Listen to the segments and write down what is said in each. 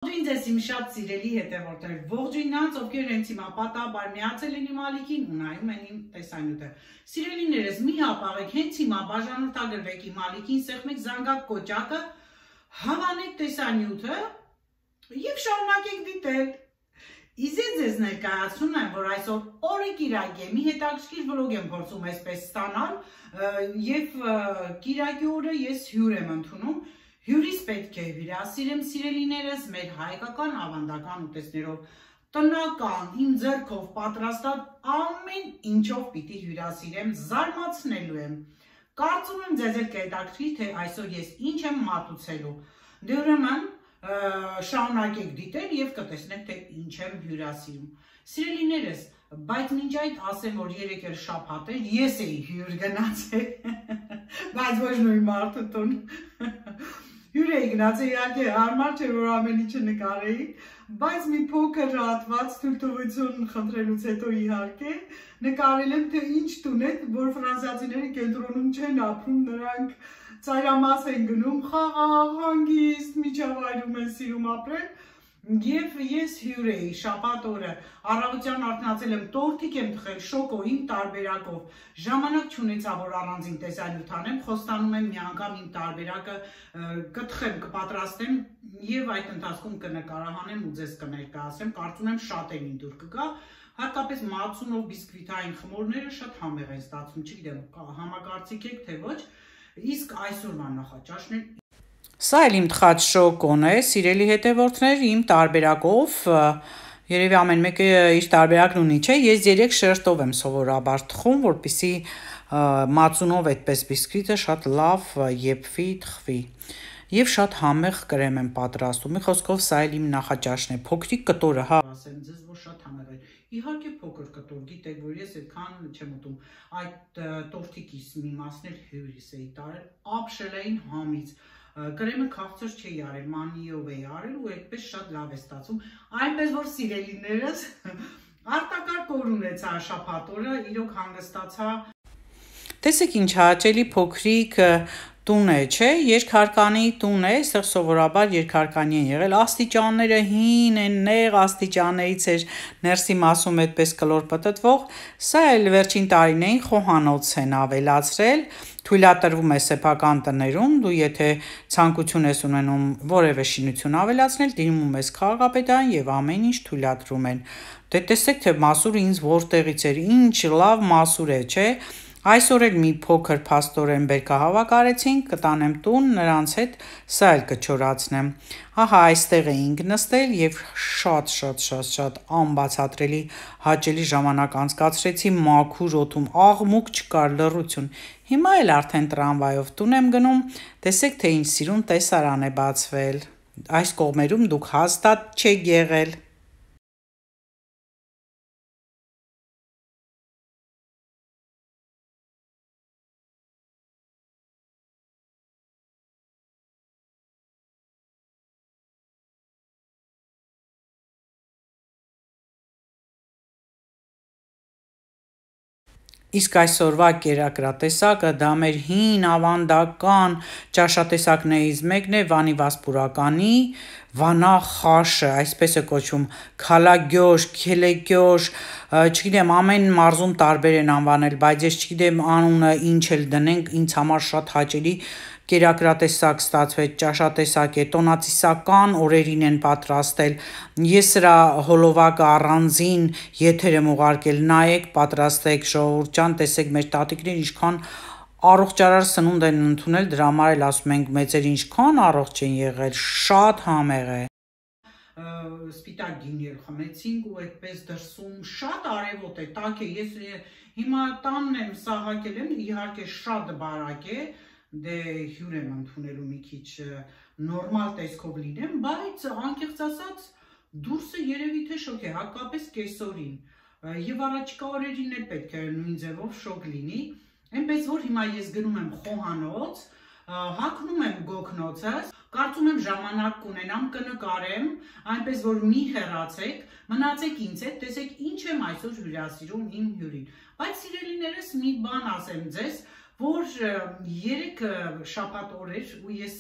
Ողջույն ձեզ իմ շատ սիրելի հետևորդներ, ողջույն նրանց, ովքեր հենց հիմա պատահաբար միացել են իմ ալիքին ու նայում են իմ տեսանյութը։ Սիրելիներս, մի հապաղեք, հենց հիմա բաժանորդագրվեք իմ ալիքին, սեղմեք զանգակ կոճակը, հավանեք տեսանյութը եւ շարունակեք դիտել։ Իզե ձեզ ներկայացնում եմ, որ այսօր օրը կիրակ է, մի հետաքրքիր վլոգ եմ փորձում այսպես ստանալ եւ կիրակի օրը ես հյուր եմ ընդունում։ Հյուրից պետք է հյուրասիրեմ, սիրելիներս, մեր հայկական ավանդական ուտեստներով, տնական, իմ ձեռքով պատրաստած ամեն ինչով պիտի հյուրասիրեմ, զարմացնելու եմ։ Կարծում եմ ձեզ էլ կհետաքրքրի, թե այսօր ես ինչ եմ մատուցելու։ Դե ուրեմն շարունակեք դիտել եւ կտեսնեք, թե ինչ եմ հյուրասիրում։ Սիրելիներս, բայց մինչ այդ ասեմ, որ երեկ էլ շաբաթ էր, ես էի հյուր գնացել, բայց ոչ նույն մարդու տուն։ Հյուր էի գնացել, իհարկե հարմար չէ, որ ամեն ինչը նկարեի, բայց մի փոքր հատված թույլտվություն խնդրելուց հետո իհարկե նկարել եմ, թե ինչ տուն է, որ ֆրանսիացիները կենտրոնում չեն ապրում, նրանք ծայրամաս են գնում, խաղաղ, հանգիստ, միջավայրում են սիրում ապրել, եւ ես հյուր էի շաբաթ օրը, առավոտյան արթնացել եմ, տորթիկ եմ թխել շոկոյին տարբերակով, ժամանակ չունեցա, որ առանձին տեսանյութ անեմ, խոստանում եմ մի անգամ իմ տարբերակը կթխեմ, կպատրաստեմ եւ այդ ընթացքում կնկարահանեմ ու ձեզ կներկայացեմ, կարծում եմ շատերին դուր կգա, հատկապես մածունով բիսկվիտային խմորները շատ համեղ են ստացվում, չգիտեմ, համակարծիք եք թե ոչ, իսկ այսօրվա նախաճաշն է։ Սա էլ իմ թխած շոկոն է, սիրելի հետևորդներ, իմ տարբերակով, երևի ամեն մեկը իր տարբերակն ունի, չէ, ես 3 շերտով եմ սովորաբար թխում, որպեսզի մածունով այդպես բիսկվիտը շատ լավ եփվի, թխվի։ Եվ շատ համեղ կրեմ եմ պատրաստում, մի խոսքով սա էլ իմ նախաճաշն է, փոքրիկ կտորը, հա, ասեմ ձեզ, որ շատ համեղ է։ Իհարկե փոքր կտոր, գիտեք, որ ես այդքան չեմ ուտում, այդ տորթիկիս մի մասն էլ հյուրիս էի տարել, ապշելային համից, կրեմը քաղցր չէի արել, մանիով էի արել ու այդպես շատ լավ է ստացվում, այնպես որ սիրելիներս արտակարգ օր ունեցա շաբաթ օրը, իրոք հանգստացա։ Տեսեք ինչ հաճելի փոքրիկ տուն է, չէ, երկհարկանի տուն է, այստեղ սովորաբար երկհարկանի են եղել, աստիճանները հին են, նեղ աստիճաններից էր ներսի մասում այդպես կլոր պտտվող, սա էլ վերջին տարիներին խոհանոց են ավելացրել, թույլատրվում է սեփական տներում, դու եթե ցանկություն ես ունենում որևէ շինություն ավելացնել, դիմում ես քաղաքապետարան եւ ամեն ինչ թույլատրում են։ Դե տեսեք թե մասուրը ինձ որտեղից էր, ինչ լավ մասուր է, չէ։ Այսօր էլ մի փոքր փաստորեն բերքահավաք արեցինք, կտանեմ տուն, նրանց հետ սա էլ կչորացնեմ։ Ահա այստեղ էինք նստել եւ շատ անբացատրելի հաճելի ժամանակ անցկացրեցի մաքուր օդում, աղմուկ չկար, լռություն։ Հիմա էլ արդեն տրամվայով տուն եմ գնում, տեսեք թե ինչ սիրուն տեսարան է բացվել։ Այս կողմերում դուք հաստատ չեք եղել։ Իսկ այսօրվա կերակրատեսակը դա մեր հին ավանդական ճաշատեսակներից մեկն է Վանի Վասպուրականի վանախաշը, այսպես է կոչվում, քալագյոշ, քելեգյոշ, չգիտեմ, ամեն մարզում տարբեր են անվանել, բայց ես չգիտեմ անունը ինչ էլ դնենք, ինձ համար շատ հաճելի կերակրատեսակ ստացվեց, ճաշատեսակ է, տոնացիսական օրերին են պատրաստել, ես սրա հոլովակը առանձին եթեր եմ ուղարկել, նայեք, պատրաստեք, ժողովուրդ ջան, տեսեք մեր տատիկներ ինչքան առողջարար սնունդ են ընդունել, դրա համար էլ ասում ենք մեծեր ինչքան առողջ են եղել, շատ համեղ է։ Սպիտակ գինի խմեցինք ու այդպես դրսում շատ արևոտ է, տաք է, ես հիմա տանն եմ սաղակել եմ, իհարկե շատ բարակ է, դե հյուր եմ ընդունելու մի քիչ նորմալ տեսքով լինեմ, բայց անկեղծ ասած դուրսը երևի թե շոկ է, հատկապես կեսօրին եւ առաջիկա օրերին էլ պետք է նույն ձևով շոկ լինի, այնպես որ հիմա ես գնում եմ խոհանոց, հագնում եմ գոգնոցս, կարծում եմ ժամանակ կունենամ, կնկարեմ, այնպես որ մի հեռացեք, մնացեք ինձ հետ, տեսեք ինչ եմ այսօր հյուրասիրում իմ հյուրին, բայց սիրելիներս մի բան ասեմ ձեզ, որ երեք շաբաթ օրեր ու ես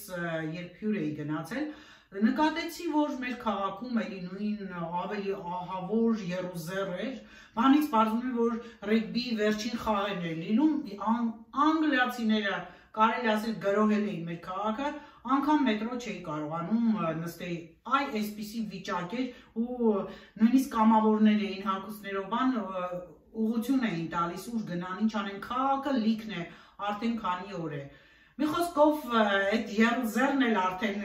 երբ հյուր էի գնացել, նկատեցի, որ մեր քաղաքում էլի նույն ավելի ահավոր երուզեր էր, բանից պարզվում է, որ ռեգբի վերջին խաղերն էր լինում, անգլիացիները կարելի ասել գրոհել էին մեր քաղաքը, անգամ մետրո չէի կարողանում նստեի, այ այսպիսի վիճակ էր ու նույնիսկ կամավորներ էին հագուստներով բան ուղղություն էին տալիս, ուր գնան, ինչ անեն, քաղաքը լիքն է, արդեն քանի օր է։ Մի խոսքով այդ երուզերն էլ արդեն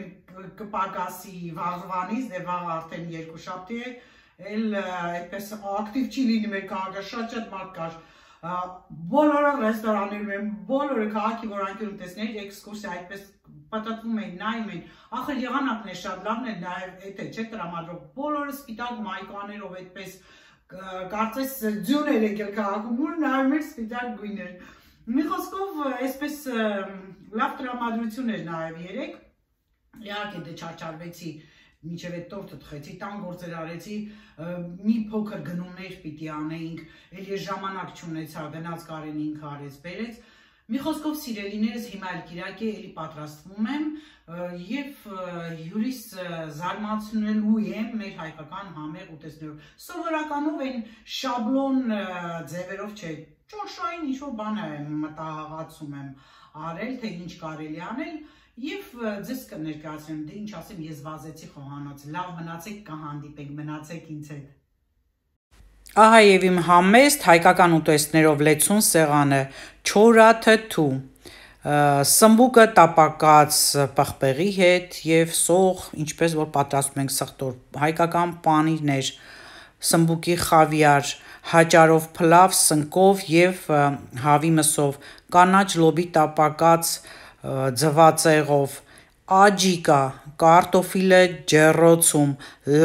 կպակասի վաղվանից, դե վաղ արդեն երկուշաբթի է, էլ այդպես ակտիվ չի լինի մեր քաղաքը, շատ մարդ կար։ Բոլորը ռեստորաններում են, բոլորը քաղաքի որ անկյուն տեսներ էքսկուրսիա այդպես պատտվում էին, նայում էին, ախր եղանակն է շատ լավն է, նաև էդ է չէ տրամադրող, բոլորը սպիտակ մայկաներով այդպես կարծես ձյուն էր եկել քաղաքում, որ նայում էր սպիտակ գույներ։ Մի խոսքով այսպես լավ տրամադրություն էր նաև երեք, իհարկե դե չարչարվեցի, մինչև այդ տորտը թխեցի, տան գործեր արեցի, մի փոքր գնումներ պիտի անեինք, էլ ես ժամանակ չունեցա, գնաց Կարեն ինքը արեց, բերեց։ Մի խոսքով սիրելիներս հիմա էլ Կիրակի էլի պատրաստվում եմ եւ հյուրիս զարմացնելու եմ մեր հայկական համեղ ուտեստներով։ Սովորականով այն շաբլոն ձևերով չէ, ճոշային ինչ-որ բան եմ մտահղացում եմ արել, թե ինչ կարելի անել եւ ձեզ կներկայացնեմ, դե ինչ ասեմ, ես վազեցի խոհանոց, լավ մնացեք, կհանդիպենք, մնացեք ինձ հետ։ Ահա եւ իմ համեստ հայկական ուտեստներով լեցուն սեղանը, չորա թթու, սմբուկը տապակած պղպեղի հետ եւ սող, ինչպես որ պատրաստում ենք սխտոր, հայկական պանիրներ, սմբուկի խավիար, հաճարով փլավ, սնկով եւ հավի մսով, կանաչ լոբի տապակած ձվածեղով, աջիկա, կարտոֆիլը ջեռոցում,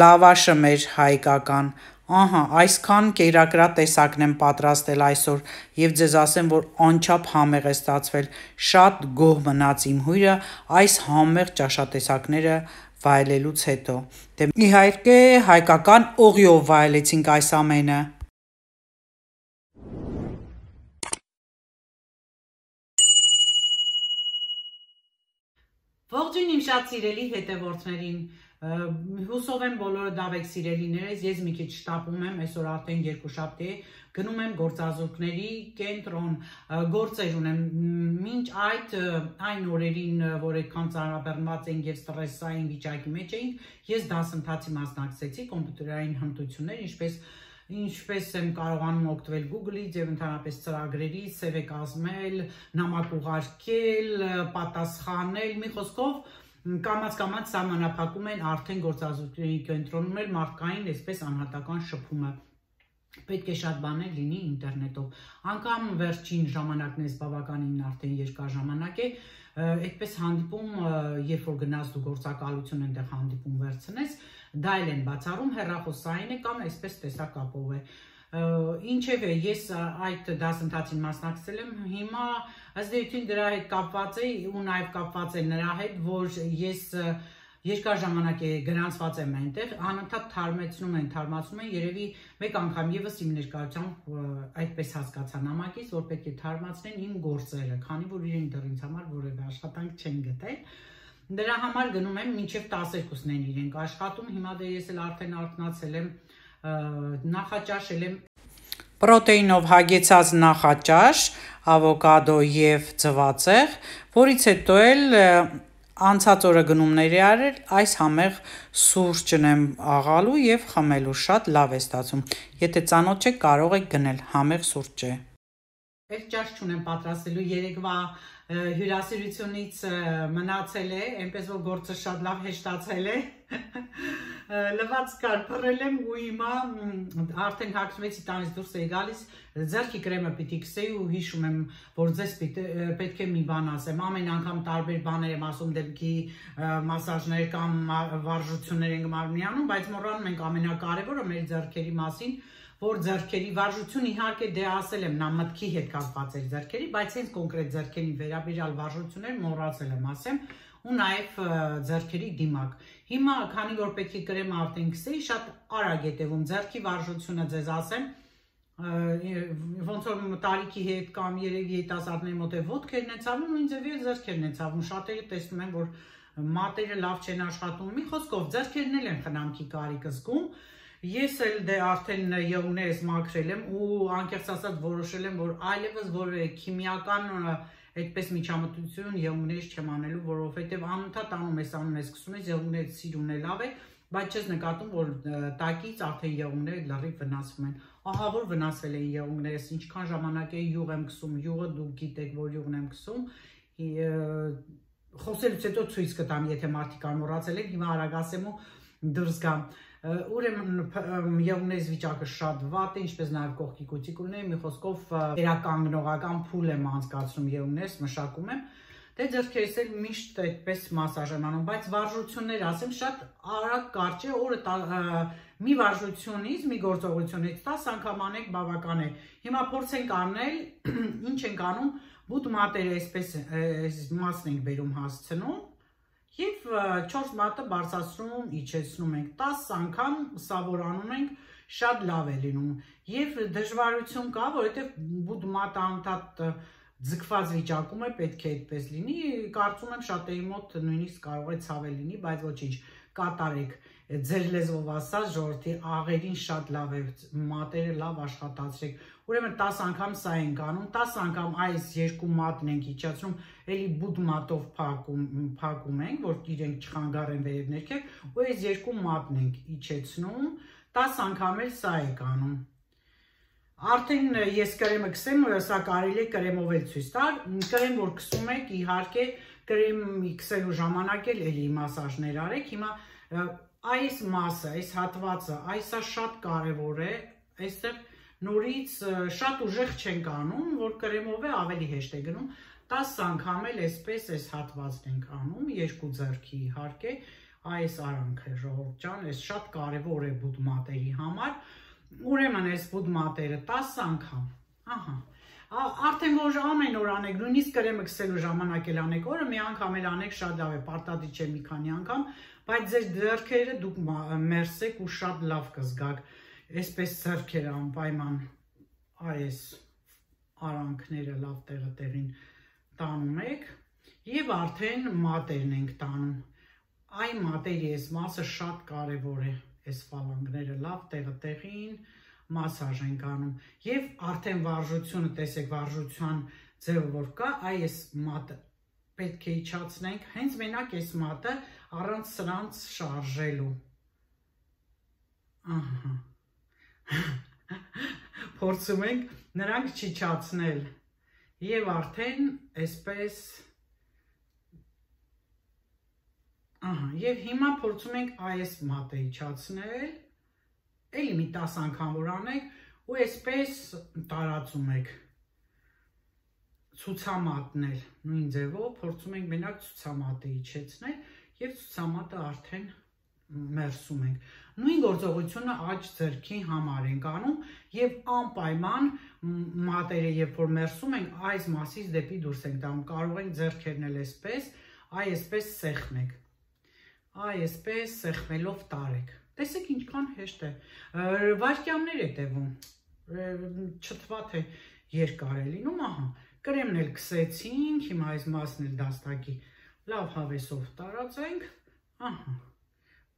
լավաշը մեր հայկական, ահա, այսքան կերակրատ տեսակն եմ պատրաստել այսօր եւ ձեզ ասեմ, որ անչափ համեղ է ստացվել, շատ գոհ մնաց իմ հյուրը այս համեղ ճաշատեսակները վայելելուց հետո, դե իհարկե հայկական օղիով վայելեցինք այս ամենը։ Ողջույն իմ շատ սիրելի հետևորդներին, հուսով եմ բոլորը դավ եք սիրելիներս, ես մի քիչ շտապում եմ, այսօր արդեն երկուշաբթի է, գնում եմ գործազուրկների կենտրոն, գործեր ունեմ, մինչ այն օրերին, որ այդքան ծանրաբեռնված էինք եւ ստրեսային վիճակի մեջ էինք, ես դասընթացի մասնակցեցի, կոմպյուտերային հմտություններ, ինչպես եմ կարողանում օգտվել Google-ից եւ ընդհանրապես ծրագրերից, CV կազմել, նամակ ուղարկել, պատասխանել, մի խոսքով կամաց սահմանափակում են արդեն գործազուրկների կենտրոնում էլ մարդկային այսպես անհատական շփումը։ Պետք է շատ բաներ լինի ինտերնետով։ Անկամ վերջին ժամանակներս բավականին արդեն երկար ժամանակ է, այդպես հանդիպում, երբ որ գնաց դու գործակալություն այնտեղ հանդիպում վերցնես, դա էլ են բացառում, հեռախոսային է կամ այսպես տեսակապով է։ Ինչևէ, ես այդ դասընթացին մասնակցել եմ, հիմա ըստ էության դրա հետ կապված է ու նաև կապված է նրա հետ, որ ես երկար ժամանակ է գրանցված եմ այնտեղ, անընդհատ թարմացնում են, երևի մեկ անգամ եւս իմ ներկայությամբ այդպես հասկացա նամակից, որ պետք է թարմացնեն իմ գործերը, քանի որ իրենք դեռ ինձ համար որևէ աշխատանք չեն գտել։ Դրա համար գնում եմ մինչև 12-ն են իրենք աշխատում, հիմա դե ես էլ արդեն արթնացել եմ, նախաճաշել եմ պրոտեինով հագեցած նախաճաշ, ավոկադո եւ ձվածեղ, որից հետո էլ անցած օրը գնումներ է արել, այս համեղ սուրճն եմ աղալու եւ խմելու, շատ լավ է ստացվում։ Եթե ծանոթ չեք, կարող եք գնել, համեղ սուրճ է։ Այդ ճաշ չունեմ պատրաստելու, երեկվա հյուրասիրությունից մնացել է, այնպես որ գործը շատ լավ հեշտացել է։ Լվաց կար, փռել եմ ու հիմա արդեն հագնվեցի տանից դուրս էի գալիս, ձեռքի կրեմը պիտի քսեի ու հիշում եմ, որ ձեզ պետք է մի բան ասեմ, ամեն անգամ տարբեր բաներ եմ ասում դեպքի մասաժներ կամ վարժություններ ենք մարմնի, բայց մոռանում ենք ամենակարևորը մեր ձեռքերի մասին, որ ձեռքերի վարժություն իհարկե դե ասել եմ, նա մտքի հետ կապված էր ձեռքերի, բայց հենց կոնկրետ ձեռքերի վերաբերյալ վարժություններ մոռացել եմ ասեմ, ու նաև ձեռքերի դիմակ։ Հիմա, քանի որ պետք է կրեմը արդեն քսեի, շատ արագ է տևում ձեռքի վարժությունը ձեզ ասեմ, ոնց որ տարիքի հետ կամ երևի երիտասարդների մոտ է ոտքերն են ցավում, ու ինձ ձեռքերն են ցավում, շատերը տեսնում են, որ մատերը լավ չեն աշխատում, մի խոսքով ձեռքերն էլ են խնամքի կարիք զգում։ Ես էլ դե արդեն եղունգներս մաքրել եմ ու անկեղծ ասած որոշել եմ, որ այլևս որևէ քիմիական այդպես միջամտություն եղունգներից չեմ անելու, որովհետև անընդհատ անում ես, սկսում ես եղունգները սիրուն է լավ է, բայց չես նկատում, որ տակից արդեն եղունգները լրիվ վնասվում են։ Ահա որ վնասվել էին եղունգներս, ինչքան ժամանակ է յուղ եմ քսում, յուղը դուք գիտեք, որ յուղն եմ քսում, խոսելուց հետո ցույց կտամ, եթե մարդիկ մոռացել եք, հիմա արագ ասեմ ու դուրս գամ։ Ուրեմն եղունգներս վիճակը շատ վատ է, ինչպես նաև կողքի կուտիկուլները, մի խոսքով վերականգնողական փուլ եմ անցկացնում եղունգներս, մշակում եմ։ Դե ձեռքերս էլ միշտ այդպես մասաժ եմ անում, բայց վարժություններ ասեմ, շատ արագ կարճ է, օրը մի վարժությունից, մի գործողությունից 10 անգամ անեք բավական է։ Հիմա փորձենք անել, ինչ ենք անում, բութ մատերը այսպես մասն ենք բերում հասցնում և 4 մատը բարձրացնում, իջեցնում ենք 10 անգամ, սա որ անում ենք, շատ լավ է լինում և դժվարություն կա, որովհետև բութ մատը անընդհատ ձգված վիճակում է, պետք է այդպես լինի, կարծում եմ շատերի մոտ նույնիսկ կարող է ցավել լինի, բայց ոչինչ, կատարեք, ձեր լեզվով ասած ժողովրդի աղերին շատ լավ է, մատերը լավ աշխատացրեք, ուրեմն 10 անգամ սա ենք անում, 10 անգամ այս երկու մատն ենք իջացնում, էլի բութ մատով փակում ենք, որ իրենք չխանգարեն վերև ներքև, ու այս երկու մատն ենք իջեցնում, 10 անգամ էլ սա եք անում։ Արդեն ես կրեմը քսեմ, սա կարելի է կրեմով էլ ցույց տալ, կրեմ որ քսում եք, իհարկե կրեմի քսելու ժամանակ էլ էլի մասաժներ արեք, հիմա այս մասը, այս հատվածը, այսա շատ կարևոր է, այստեղ նորից շատ ուժեղ չենք անում, որ կրեմով է ավելի հեշտ է գնում, 10 անգամ էլ այսպես այս հատվածն ենք անում, երկու ձեռքի իհարկե, այս արանքը ժողովուրդ ջան, այս շատ կարևոր է բութ մատերի համար, ուրեմն այս բութ մատերը 10 անգամ, արդեն որ ամեն օր անեք, նույնիսկ կրեմը քսելու ժամանակ էլ անեք, օրը մի անգամ էլ անեք, շատ լավ է, պարտադիր չէ մի քանի անգամ, բայց ձեր ձեռքերը դուք մերսեք ու շատ լավ կզգաք, այսպես ձեռքերը անպայման այս արանքները լավ տեղը տեղին տանում եք և արդեն մատերն ենք տանում, այն մատերի այս մասը շատ կարևոր է, այս ֆալանգները լավ տեղը տեղին մասաժ ենք անում և արդեն վարժությունը, տեսեք վարժության ձևը որ կա, այս մատը պետք է իջացնենք, հենց մենակ այս մատը առանց սրանց շարժելու, փորձում ենք նրանք չիջացնել և արդեն այսպես, և հիմա փորձում ենք այս մատը իջացնել, էլի մի 10 անգամ որ անեք ու այսպես տարածում եք, ցուցամատնել, նույն ձևով փորձում ենք մենակ ցուցամատը իջեցնել և ցուցամատը արդեն մերսում ենք, նույն գործողությունը աջ ձեռքի համար ենք անում և անպայման մատերը երբ որ մերսում ենք, այս մասից դեպի դուրս ենք տանում, կարող ենք ձեռքերն էլ այսպես, այսպես սեղմեք, այսպես սեղմելով տարեք, տեսեք ինչքան հեշտ է, վայրկյաններ է տևում, չթվա թե երկար է լինում, կրեմն էլ քսեցինք, հիմա այս մասն էլ դաստակի լավ հավեսով տարածենք,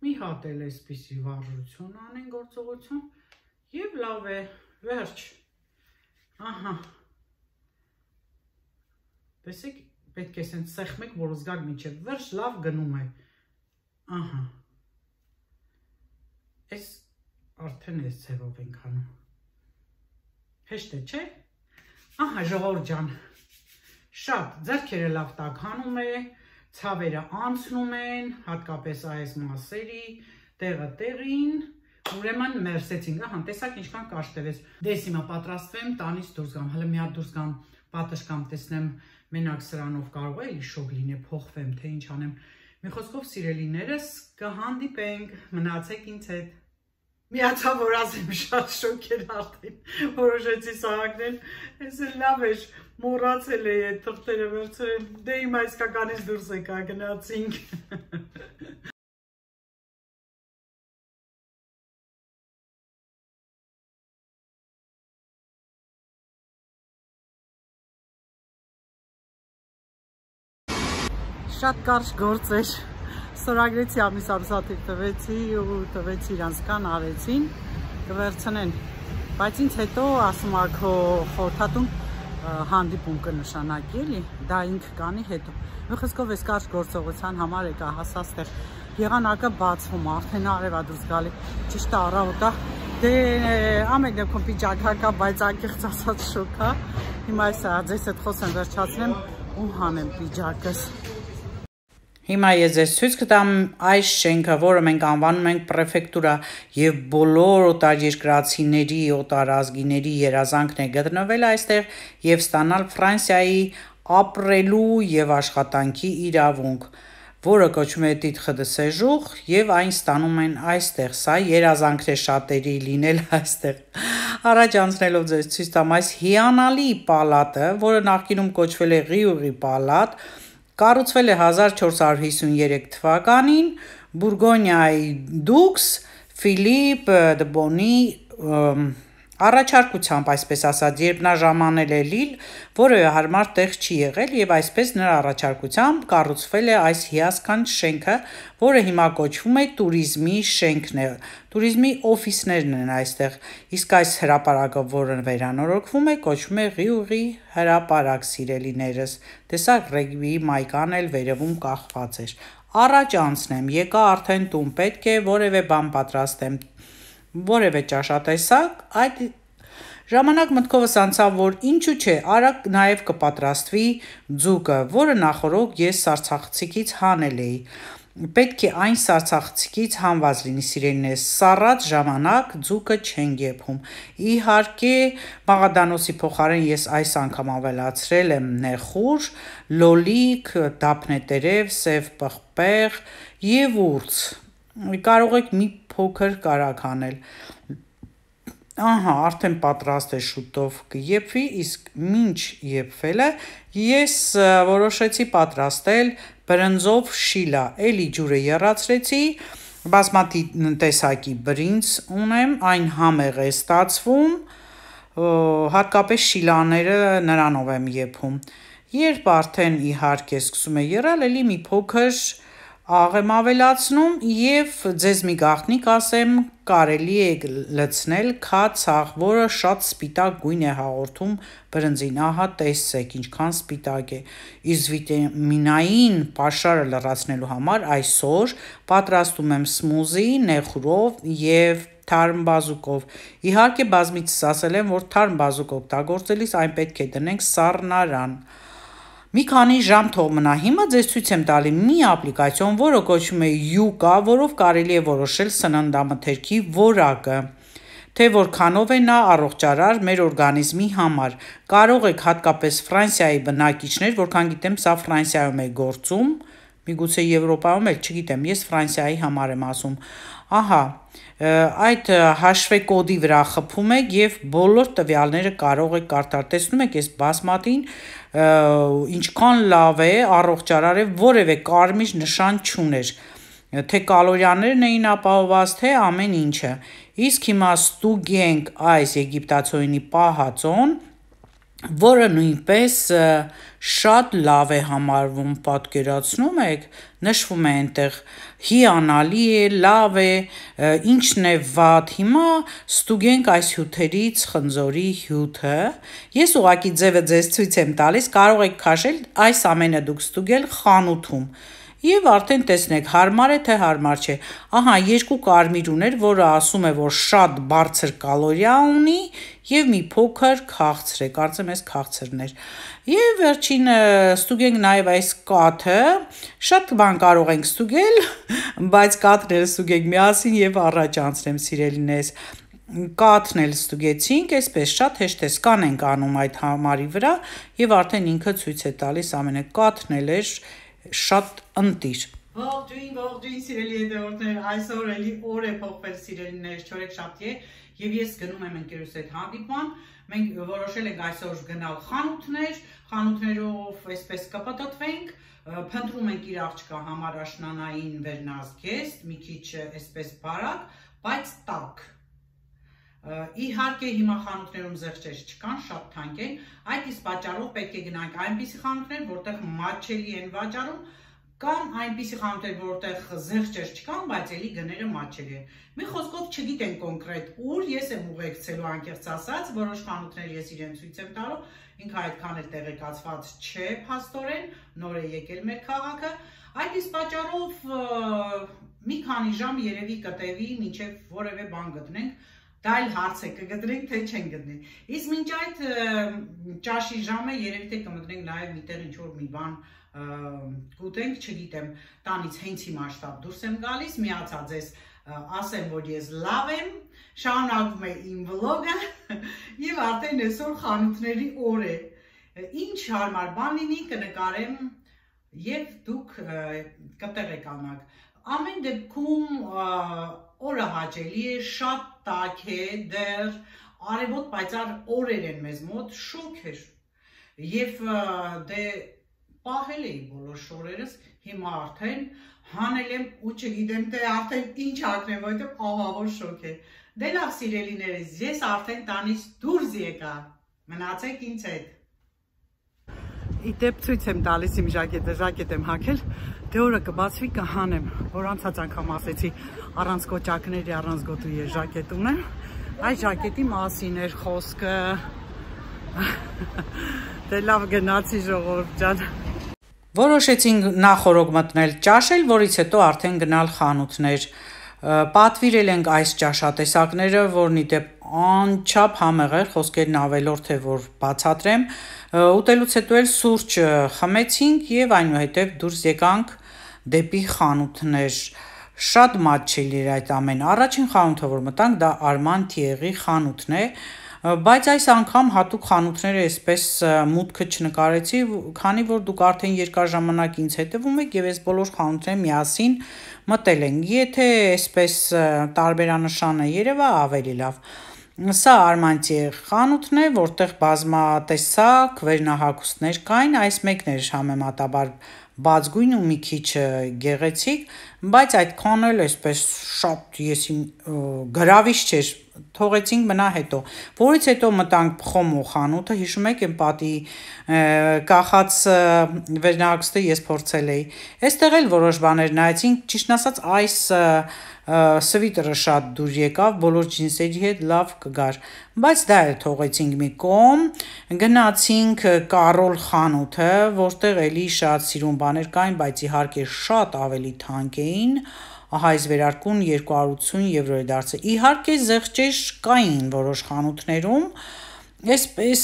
մի հատ էլ այսպիսի վարժություն անենք գործողություն և լավ է, վերջ, տեսեք պետք է սենց սեղմեք, որ զգաք մինչև վերջ լավ գնում է, այս արդեն այս ձևով ենք անում, հեշտ է, չէ, ժողովուրդ ջան, շատ ձեռքերը լավ տաք հանում է, ցավերը անցնում են, հատկապես այս մասերի, տեղը տեղին, ուրեմն մերսեցինք, տեսակ ինչքան կարճ տևեց, դես հիմա պատրաստվեմ, տանից դուրս գամ, հələ մի հատ դուրս գամ, պատշգամ, տեսնեմ, մենակ սրանով կարող է էլի շոկ լինի, փոխվեմ, թե ինչ անեմ, մի խոսքով սիրելիներս, կհանդիպենք, մնացեք ինձ հետ, միացա որ ասեմ շատ շոկ էր արդեն, որոշեցի սահակնել, ես էլ լավ էր, մոռացել էի այդ թղթերը վերցրել, դե հիմա իսկականից դուրս եկա, գնացինք։ շատ կարճ գործ էր, ստորագրեցի ամիս ամսաթիվ տվեցի ու տվեցի իրանց կան արեցին, կվերցնեն, բայց ինձ հետո ասում ա քո խորհրդատուն հանդիպում կնշանակի էլի, դա ինք կանի հետո, մի խոսքով այս կարճ գործողության համար եկա հասած տեղ եղանակը բացվում, արդեն արև ա դուրս գալի, ճիշտ առավոտա, դե ամեն դեպքում պիջակա կա, բայց անկեղծ ասած շոկ ա, հիմա այս ձեզ հետ խոսեմ վերջացնեմ ու հանեմ պիջակս։ Հիմա ես ձեզ ցույց կտամ այս շենքը, որը մենք անվանում ենք պրեֆեկտուրա եւ բոլոր օտարերկրացիների, օտարազգիների երազանքն է գտնվել այստեղ եւ ստանալ Ֆրանսիայի ապրելու եւ աշխատանքի իրավունք, որը կոչվում է titre de séjour եւ այն ստանում են այստեղ։ Սա երազանքն է շատերի լինել այստեղ։ Առաջ անցնելով ձեզ ցույց տամ այս հիանալի պալատը, որը նախկինում կոչվել է Ղիուղի պալատ, կառուցվել է 1453 թվականին Բուրգոնիայի դուքս Ֆիլիպ դե Բոնի առաջարկությամբ, այսպես ասած, երբ նա ժամանել է Լիլ, որը հարմար տեղ չի եղել եւ այսպես նրա առաջարկությամբ կառուցվել է այս հիասքանչ շենքը, որը հիմա կոչվում է տուրիզմի շենքն է, տուրիզմի օֆիսներն են այստեղ, իսկ այս հրապարակը, որը վերանորոգվում է, կոչվում է Ղիուղի հրապարակ, սիրելիներս, տեսակ ռեգբիի մայկան էլ վերևում կախված էր, առաջ անցնեմ, եկա արդեն տուն, պետք է որևէ բան պատրաստեմ, որևէ ճաշատեսակ, այդ ժամանակ մտքովս անցավ, որ ինչու չէ, արագ նաև կպատրաստվի ձուկը, որը նախորդ ես սառցախցիկից հանել էի, պետք է այն սառցախցիկից հանված լինի, սիրելիներս, սառած ժամանակ ձուկը չեն եփում, իհարկե մաղադանոսի փոխարեն ես այս անգամ ավելացրել եմ նեխուր, լոլիկ, դափնետերև, սև պղպեղ եւ ուրց, կարող եք մի փոքր կարակ անել, ահա, արդեն պատրաստ է շուտով կեփվի, իսկ մինչ եփվելը ես որոշեցի պատրաստել բրնձով շիլա, էլի ջուրը եռացրեցի, բազմատի տեսակի բրինձ ունեմ, այն համեղ է ստացվում, հատկապես շիլաները նրանով եմ եփում, երբ արդեն իհարկե սկսում է եռալ, էլի մի փոքր աղ եմ ավելացնում եւ ձեզ մի գաղտնիք ասեմ, կարելի է լցնել քացախ, որը շատ սպիտակ գույն է հաղորդում բրնձին, ահա տեսեք ինչքան սպիտակ է, իսկ վիտամինային պաշարը լրացնելու համար այսօր պատրաստում եմ սմուզի նեխուրով եւ թարմ բազուկով, իհարկե բազմիցս ասել եմ, որ թարմ բազուկ օգտագործելիս այն պետք է դնենք սառնարան, մի քանի ժամ թող մնա, հիմա ձեզ ցույց եմ տալի մի ապլիկացիոն, որը կոչվում է Յուկա, որով կարելի է որոշել սննդամթերքի որակը, թե որքանով է նա առողջարար մեր օրգանիզմի համար, կարող եք հատկապես Ֆրանսիայի բնակիչներ, որքան գիտեմ սա Ֆրանսիայում է գործում, միգուցե Եվրոպայում էլ չգիտեմ, ես Ֆրանսիայի համար եմ ասում, ահա, այդ հաշվե կոդի վրա խփում եք եւ բոլոր տվյալները կարող եք կարդալ, տեսնում եք այս բասմատին ինչքան լավ է, առողջարար է, որևէ կարմիր նշան չուներ, թե կալորիաներն էին ապահովված, թե ամեն ինչը, իսկ հիմա ստուգենք այս եգիպտացորենի պահածոն, որը նույնպես շատ լավ է համարվում, պատկերացնում եք, նշվում է այնտեղ հիանալի է, լավ է, ինչն է վատ, հիմա ստուգենք այս հյութերից խնձորի հյութը, ես ուղղակի ձևը ձեզ ցույց եմ տալիս, կարող եք քաշել այս ամենը դուք ստուգել խանութում, եւ արդեն տեսնեք, հարմար է թե հարմար չէ, ահա երկու կարմիր ուներ, որը ասում է, որ շատ բարձր կալորիա ունի եւ մի փոքր քաղցր է, կարծեմ ես քաղցրն էր, եւ վերջին ստուգենք նաեւ այս կաթը, շատ բան կարող ենք ստուգել, բայց կաթները ստուգենք միասին եւ առաջ անցնեմ սիրելիներս, կաթն էլ ստուգեցինք, այսպես շատ հեշտ է, սկան ենք անում այդ համարի վրա եւ արդեն ինքը ցույց է տալիս ամենը, կաթն էլ էր շատ ընտիր։ Ողջույն սիրելի հետևորդներ, այսօր էլի օր է փոխվել սիրելիներ, չորեքշաբթի է եւ ես գնում եմ ընկերուս հետ հանդիպման, մենք որոշել ենք այսօր գնալ խանութներով այսպես կպտտվենք, փնտրում ենք իր աղջկա համար աշնանային վերնազգեստ, մի քիչ այսպես բարակ, բայց տաք։ Իհարկե հիմա խանութներում զեղչեր չկան, շատ թանկ են, այդ իսկ պատճառով պետք է գնանք այնպիսի խանութներ, որտեղ մատչելի են վաճառում, Կամ այնպիսի խանութներ, որտեղ զեղչեր չկան, բայց էլի գները մատչելի են։ Մի խոսքով չգիտեն կոնկրետ ուր, ես եմ ուղեկցելու անկեղծ ասած, որոշ խանութներ ես իրեն ցույց եմ տալու, ինքը այդքան էլ տեղեկացված չէ փաստորեն, նոր է եկել մեր քաղաքը, այդ իսկ պատճառով մի քանի ժամ երևի կտևի, մինչև որևէ բան գտնենք, դա էլ հարց է կգտնենք, թե չեն գտնի։ Իսկ մինչ այդ ճաշի ժամը երևի թե կմտնենք նաև միտեղ ինչ-որ մի բան կուտենք, չգիտեմ, տանից հենց հիմա շտապ դուրս եմ գալիս, միացա ձեզ ասեմ, որ ես լավ եմ, շարունակվում է իմ վլոգը և արդեն այսօր խանութների օր է, ինչ հարմար բան լինի կնկարեմ և դուք կտեղեկանաք, ամեն դեպքում օրը հաճելի է, շատ տաք է, դեռ արևոտ պայծառ օրեր են մեզ մոտ, շոգ էր և դե պահել էի բոլոր շորերս, հիմա արդեն հանել եմ ու չգիտեմ թե արդեն ինչ հագնեմ, որովհետև ահավոր շոգ է։ Դե լավ սիրելիներս, ես արդեն տանից դուրս եկա, մնացեք ինձ հետ։ Իդեպ ցույց եմ տալիս իմ ժակետը, ժակետ եմ հագել, դե օրը կբացվի կհանեմ, որ անցած անգամ ասեցի առանց կոճակների, առանց գոտու ես ժակետ ունեմ, այդ ժակետի մասին էր խոսքը։ Դե լավ գնացի ժողովուրդ ջան։ Որոշեցինք նախորոք մտնել ճաշել, որից հետո արդեն գնալ խանութներ։ Պատվիրել ենք այս ճաշատեսակները, որն ի դեպ անչափ համեղ էր, խոսքերն ավելորդ է, որ բացատրեմ։ Ուտելուց հետո էլ սուրճ խմեցինք և այնուհետև դուրս եկանք դեպի խանութներ։ Շատ մատչելի էր այդ ամեն։ Առաջին խանութը, որ մտանք, դա Արման Թիեղի խանութն է, բայց այս անգամ հատուկ խանութները այսպես մուտքը չնկարեցի, քանի որ դուք արդեն երկար ժամանակ ինձ հետևում եք և այս բոլոր խանութները միասին մտել ենք, եթե այսպես տարբերանշանը երևա ավելի լավ։ Սա Արման Թիեղ խանութն է, որտեղ բազմատեսակ վերնահագուստներ կային, այս մեկն էր համեմատաբար բացգույն ու մի քիչ գեղեցիկ, բայց այդքան էլ այսպես շատ եսին գրավիչ չէր, թողեցինք մնա հետո, որից հետո մտանք Փխոմո խանութը, հիշում եք եմ պատի կախած վերնահագուստը ես փորձել էի, այստեղ էլ որոշ բաներ նայեցինք, ճիշտն ասած այս սվիտերը շատ դուր եկավ, բոլոր ջինսերի հետ լավ կգար, բայց դա էլ թողեցինք մի կողմ, գնացինք Կարոլ խանութը, որտեղ էլի շատ սիրուն բաներ կային, բայց իհարկե շատ ավելի թանկ էին, ահա այս վերարկուն 280 եվրո է դարձել, իհարկե զեղչեր կային որոշ խանութներում, այսպես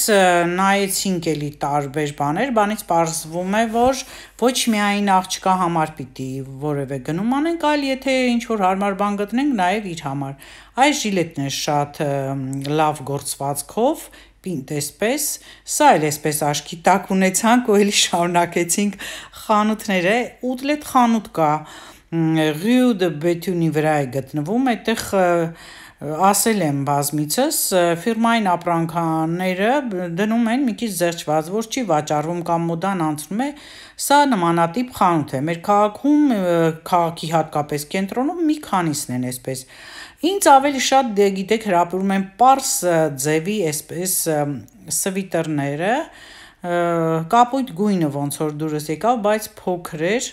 նայեցինք էլի տարբեր բաներ, բանից պարզվում է, որ ոչ միայն աղջկա համար պիտի որևէ գնում անենք, այլ եթե ինչ-որ հարմար բան գտնենք, նաև իր համար, այս ժիլետն է շատ լավ գործվածքով, պինտ այսպես, սա էլ այսպես աշկի տակ ունեցանք ու էլի շարունակեցինք խանութները, ուտլետ խանութ կա, Rue de Béthune-ի վրա է գտնվում, այդտեղ ասել եմ բազմիցս, ֆիրմային ապրանքները դնում են մի քիչ զեղչված, որ չի վաճառվում կամ մոդան անցնում է, սա նմանատիպ խանութ է, մեր քաղաքում, քաղաքի հատկապես կենտրոնում մի քանիսն են այսպես, ինձ ավելի շատ գիտեք հրապուրում են պարս ձևի այսպես սվիտերները, կապույտ գույնը ոնց որ դուրս եկավ, բայց փոքր էր,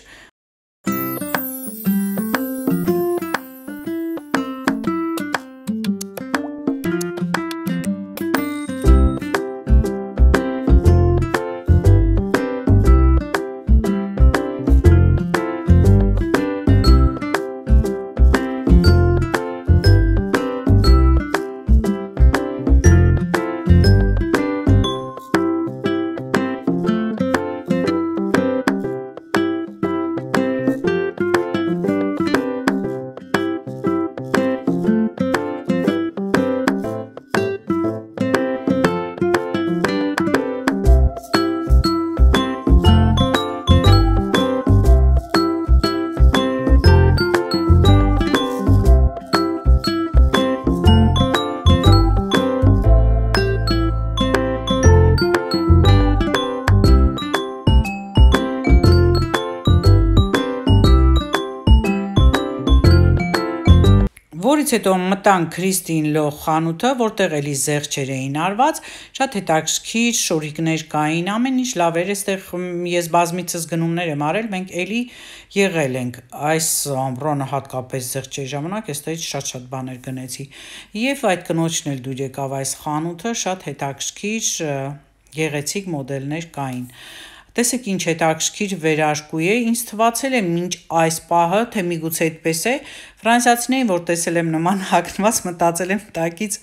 Որից հետո մտանք Քրիստին Լո խանութը, որտեղ էլի զեղչեր էին արված, շատ հետաքրքիր շորիկներ կային, ամեն ինչ լավ էր, այստեղ ես բազմիցս գնումներ եմ արել, մենք էլի եղել ենք այս ամռանը հատկապես զեղչերի ժամանակ, այստեղից շատ բաներ գնեցի։ Եվ այդ կնոջն էլ դուր եկավ այս խանութը, շատ հետաքրքիր գեղեցիկ մոդելներ կային։ Տեսեք ինչ հետաքրքիր վերարկու է, ինձ թվացել է մինչ այս պահը, թե միգուցե այդպես է, ֆրանսիացիներին, որ տեսել եմ նման հագնված, մտածել եմ տակից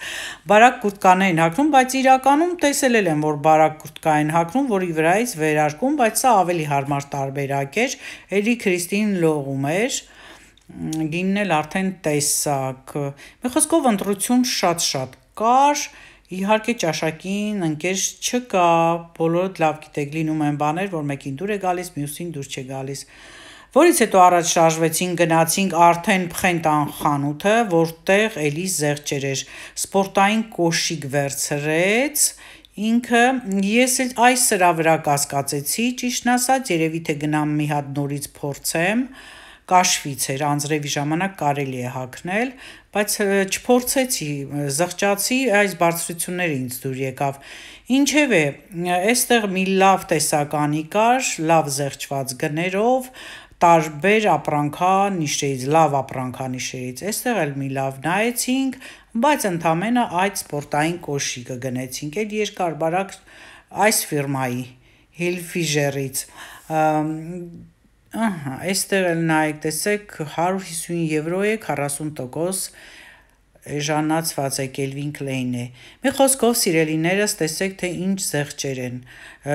բարակ կուրտկաներ են հագնում, բայց իրականում տեսել եմ, որ բարակ կուրտկա են հագնում, որի վրայից վերարկում, բայց սա ավելի հարմար տարբերակ էր, էլի Քրիստին Լողում էր, գինն էլ արդեն տեսակ, մի խոսքով ընտրություն շատ կար, իհարկե ճաշակին ընկեր չկա, բոլորդ լավ գիտեք, լինում են բաներ, որ մեկին դուր է գալիս, մյուսին դուր չէ գալիս։ Որից հետո առաջ շարժվեցինք, գնացինք արդեն Փխենտան խանութը, որտեղ էլի զեղչեր էր, սպորտային կոշիկ վերցրեց, ինքը ես էլ այս սրա վրա կասկածեցի, ճիշտն ասած, երևի թե գնամ մի հատ նորից փորձեմ, կաշվից էր, անձրևի ժամանակ կարելի է հագնել, բայց չփորձեցի, զղջացի, այս բարձրությունները ինձ դուր եկավ։ Ինչևէ, այստեղ մի լավ տեսականի կար, լավ զեղչված գներով, տարբեր ապրանքանիշերից, լավ ապրանքանիշերից, այստեղ էլ մի լավ նայեցինք, բայց ընդամենը այդ սպորտային կոշիկը գնեցինք, էլ երկար բարակ այս ֆիրմայի, Hilfiger-ից, այստեղ էլ նայեք, տեսեք 150 եվրո է, 40% էժանացված է, Calvin Klein է։ Մի խոսքով սիրելիներս տեսեք, թե ինչ զեղչեր են։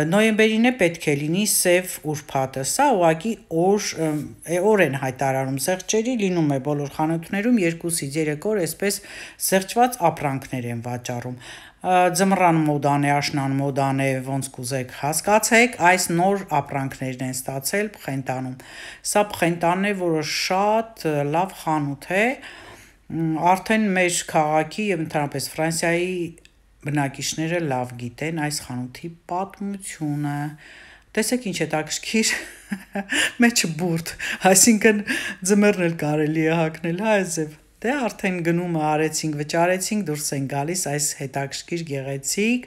Նոյեմբերին է պետք է լինի սև ուրբաթը, սա ուղղակի օր են հայտարարում զեղչերի, լինում է բոլոր խանութներում 2-ից 3 օր այսպես զեղչված ապրանքներ են վաճառում։ Ձմռան մոդան է, աշնան մոդան է, ոնց կուզեք հասկացեք, այս նոր ապրանքներն են ստացել Փխենտանում։ Սա Փխենտանն է, որը շատ լավ խանութ է, արդեն մեր քաղաքի եւ ընդհանրապես Ֆրանսիայի բնակիչները լավ գիտեն այս խանութի պատմությունը։ Տեսեք ինչ հետաքրքիր մեջը բուրդ, այսինքն ձմեռն էլ կարելի է հագնել, հա այսև։ Դե արդեն գնումը արեցինք, վճարեցինք, դուրս են գալիս այս հետաքրքիր գեղեցիկ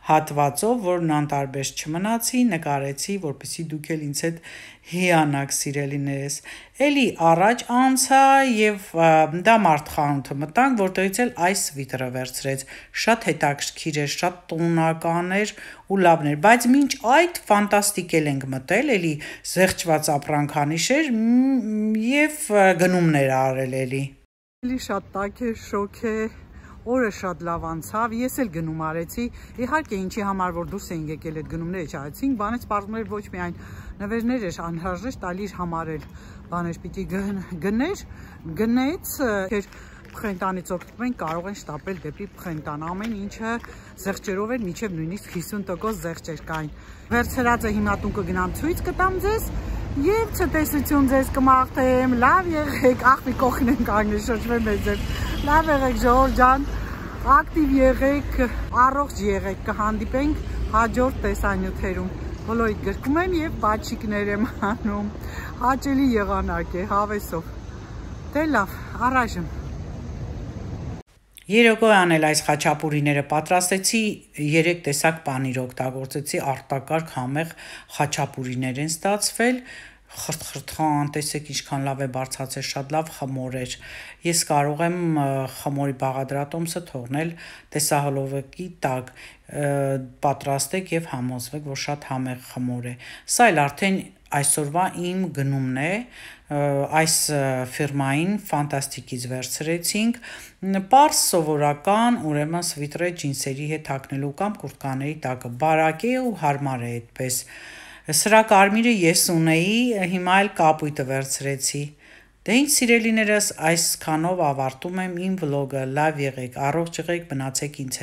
հատվածով, որն անտարբեր չմնացի, նկարեցի, որպեսզի դուք էլ ինձ հետ հիանաք սիրելիներս։ Էլի առաջ անցա եւ դա մարդ խանութը մտանք, որտեղից էլ այս սվիթերը վերցրեց։ Շատ հետաքրքիր էր, շատ տոնական էր ու լավն էր, բայց մինչ այդ ֆանտաստիկ ենք մտել, էլի զեղչված ապրանքանիշ էր եւ գնումներ արել էլի։ Էլի շատ տաք է, շոկ է, օրը շատ լավ անցավ, ես էլ գնում արեցի, իհարկե ինչի համար որ դուրս էին եկել այդ գնումները չարեցինք, բանից պարզում էր ոչ միայն նվերներ էր անհրաժեշտ, այլ իր համար էլ բաներ պիտի գնեց, Փխենտանից օգտվում են, կարող են շտապել դեպի Փխենտան, ամեն ինչը զեղչերով էր, մինչև նույնիսկ 50% զեղչեր կային։ Վերցրածը հիմա տուն կգնամ ցույց կտամ ձեզ եւ ցտեսություն ձեզ կմաղթեմ, լավ եղեք, աղբի կողքին են կանգնել, շրջվեմ մեզ ձեզ, լավ եղեք Ժողովուրդ ջան, ակտիվ եղեք, առողջ եղեք, կհանդիպենք հաջորդ տեսանյութերում, բոլորիդ գրկում եմ եւ բաչիկներ եմ անում, հաճելի եղանակ է, հավեսով, դե լավ, առայժմ Երեկոյան էլ այս խաչապուրիները պատրաստեցի, 3 տեսակ պանիր օգտագործեցի, արտակարգ համեղ խաչապուրիներ են ստացվել, խրտ-խրտխան, տեսեք ինչքան լավ է բարձրացել, շատ լավ խմոր էր։ Ես կարող եմ խմորի բաղադրատոմսը թողնել տեսահոլովակի տակ, պատրաստեք եւ համոզվեք, որ շատ համեղ խմոր է։ Սա էլ արդեն այսօրվա իմ գնումն է, այս ֆիրմային ֆանտաստիկից վերցրեցինք, պարզ սովորական, ուրեմն սվիտրե ջինսերի հետ հագնելու կամ կուրտկաների տակը, բարակ է ու հարմար է այդպես։ Սրա կարմիրը ես ունեի, հիմա էլ կապույտը վերցրեցի։ Դե ինչ սիրելիներս, այսքանով ավարտում եմ իմ վլոգը, լավ եղեք, առողջ եղեք, մնացեք ինձ հետ։